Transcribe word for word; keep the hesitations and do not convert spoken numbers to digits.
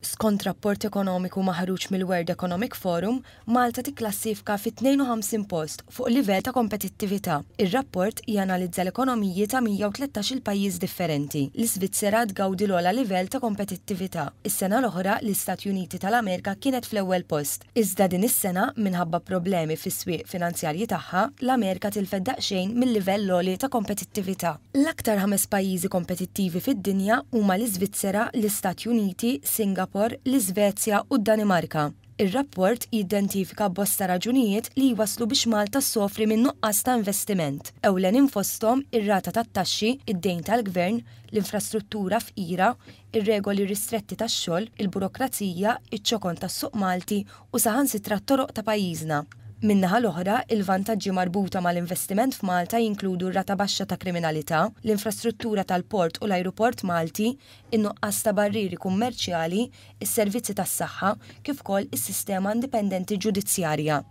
Skont rapport ekonomiku maħruġ mill-World Economic Forum, Malta tikklassifika fit-tnejn u ħamsin post fuq livell ta' kompetittività. Ir-rapport janalizza l-ekonomiji ta' mija u tlettax-il pajjiż differenti. L-Iżvizzera tgawdi l-ogħla livell ta' kompetittività. Is-sena l-oħra, l-Istati Uniti tal-Amerika kienet fl-ewwel post. Iżda din is-sena, minħabba problemi fis-swieq finanzjarji tagħha, l-Amerika tilfet daqsxejn mill-livell għoli ta' kompetittività. L-aktar ħames pajjiżi kompetittivi fid-dinja huma l-Iżvizzera, l-Istati Uniti, Singapore, l-Iżvezja u d-Danimarka. Ir-rapport jidentifika bosta raġunijiet li jwaslu biex Malta ssofri minn nuqqas ta' investiment. Ewlenin fosthom ir-rata tat-taxxi, id-dejn tal-gvern, l-infrastruttura fqira, ir-regoli ristretti tax-xogħol, il-burokrazija, iċ-ċokon tas-suq Malti u saħansitra t-toroq ta' pajjiżna. Min-naħa l-oħra, il-vantaġġi marbuta mal-investiment f'Malta jinkludu r-rata baxxa ta' kriminalità, l-infrastruttura tal-port u l-ajruport Malti, in-nuqqas ta' barrieri kummerċjali, is-servizzi tas-saħħa, kif ukoll is-sistema indipendenti ġudizzjarja.